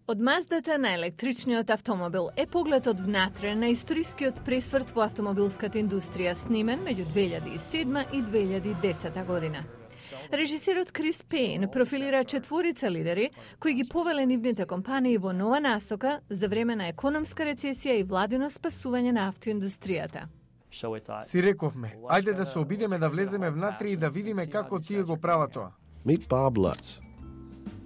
Од маздата на електричниот автомобил е погледот внатре на историскиот пресврт во автомобилската индустрија, снимен меѓу 2007 и 2010 година. Режисерот Крис Пейн профилира четворица лидери кои ги повеле нивните компании во нова насока за време на економска рецесија и владино спасување на автоиндустријата. Си рековме, ајде да се обидеме да влеземе внатре и да видиме како тие го прават тоа. Meet Bob Lutz,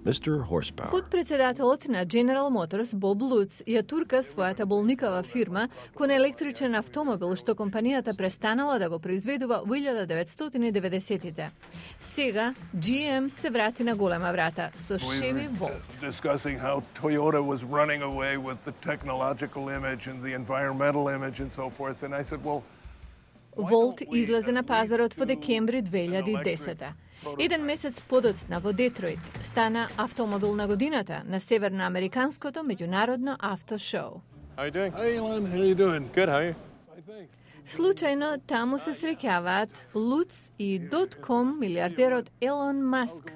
Mr. Horsepower. Подпредседателот на General Motors Боб Луц ја турка својата болникава фирма кон електричен автомобил што компанијата престанала да го произведува во 1990-тите. Сега GM се врати на голема врата со Chevy Volt. Discussing how Toyota was running away with the technological image and the environmental image and so forth, and I said, well, Volt излезе на пазарот во декември 2010. Еден месец подоцна во Детройт стана автомобил на годината на северноамериканското меѓународно автошоу. How you doing? Hey, Elon, how you doing? Good, how are you? Случајно таму се среќаваат Луц и .com милиардерот Елон Маск.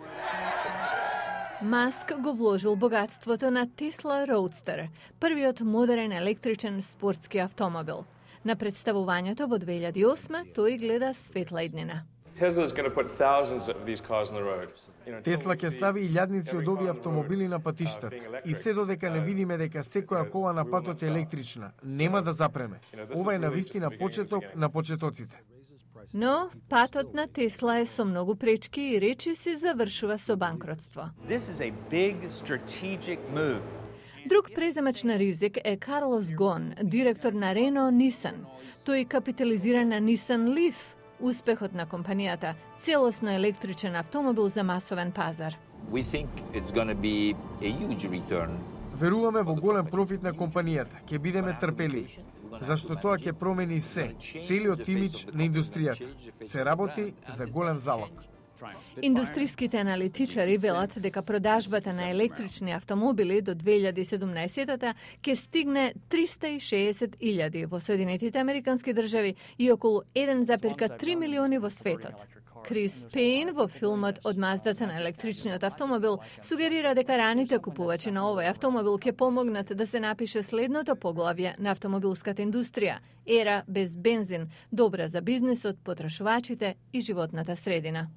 Маск го вложил богатството на Tesla Roadster, првиот модерен електричен спортски автомобил. На представувањето во 2008 тој гледа светла иднина. Тесла ќе стави илјадници од овие автомобили на патиштата и се додека не видиме дека секоја кола на патот е електрична, нема да запреме. Ова е навистина почеток на почетоците. Но патот на Тесла е со многу пречки и речи се завршува со банкротство. Друг преземач на ризик е Карлос Гон, директор на Рено Нисан. Тој капитализира на Нисан Лиф, успехот на компанијата, целосно електричен автомобил за масовен пазар. Веруваме во голем профит на компанијата, ќе бидеме трпеливи, зашто тоа ќе промени се, целиот имидж на индустријата. Се работи за голем залог. Индустриските аналитичари велат дека продажбата на електрични автомобили до 2017-та ќе стигне 360.000 во Соединетите Американски држави и околу 1,3 милиони во светот. Крис Пейн во филмот Од маздата на електричниот автомобил сугерира дека раните купувачи на овој автомобил ќе помогнат да се напише следното поглавје на автомобилската индустрија – ера без бензин, добра за бизнисот, потрошувачите и животната средина.